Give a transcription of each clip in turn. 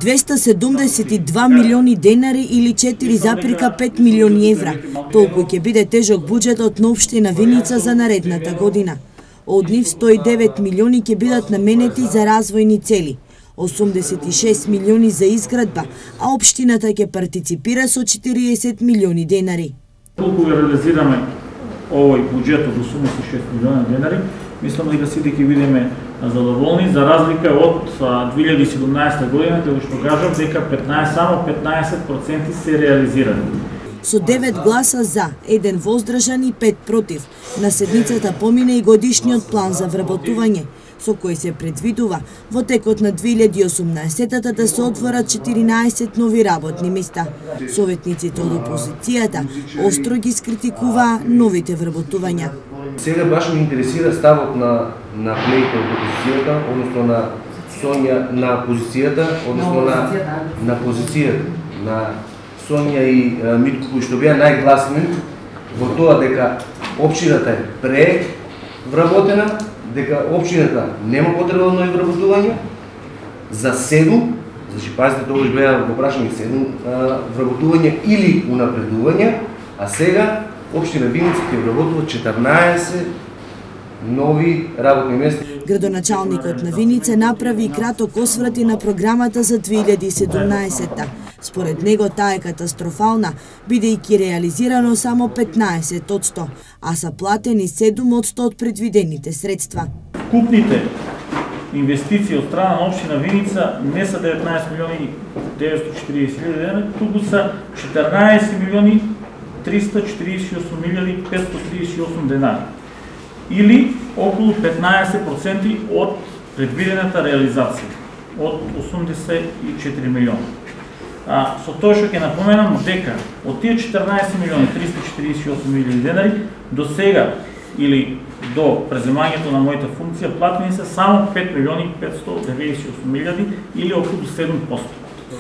272 милиони денари или 4,5 милиони евра. Толку ќе биде тежок буџетот на општина Виница за наредната година. Од нив 109 милиони ќе бидат наменети за развојни цели, 86 милиони за изградба, а општината ќе партиципира со 40 милиони денари. Толку реализираме овој буџет од 86 милиони денари, мислам дека сите ќе бидеме задоволни, за разлика од 2017 година, кога што кажав дека само 15% се реализирани. Со 9 гласа за, 1 воздржан и 5 против, на седницата помине и годишниот план за вработување, со кој се предвидува во текот на 2018 да се отворат 14 нови работни места. Советниците од опозицијата остро ги скритикуваа новите вработувања. Сега баш ме интересира ставот на колегите од опозицијата, односно на Сонја, на позицијата, односно на позицијата на Сонја и Митко, кои што беа најгласни во тоа дека општината е превработена, дека општината нема потреба нови вработувања, за 7, значи пазите тогаш беа го прашани 7 вработувања или унапредувања, а сега општина Виница ќе вработува 14 нови работни места. Градоначалникот на Виница направи краток осврт и на програмата за 2017-та. Според него таа е катастрофална, бидејќи реализирано само 15%, а са платени 7% од предвидените средства. Купните инвестиции од страна на општина Виница не са 19 милиони 940 хиляди денари, туку са 14 милиони 348 милиони 538 денари, или околу 15% од предвидената реализација, од 84 милиона. Со тоа што ќе напоменам дека од тие 14 милиони 348 милиони денари до сега или до преземањето на мојата функција платени се само 5 милиони 598 милиарди или околу 7%.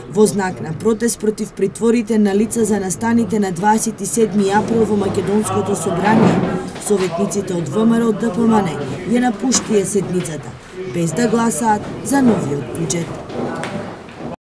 Во знак на протест против притворите на лица за настаните на 27 април во Македонското собрание, советниците од ВМРО ДПМН ја напуштија седницата, без да гласаат за новиот буџет.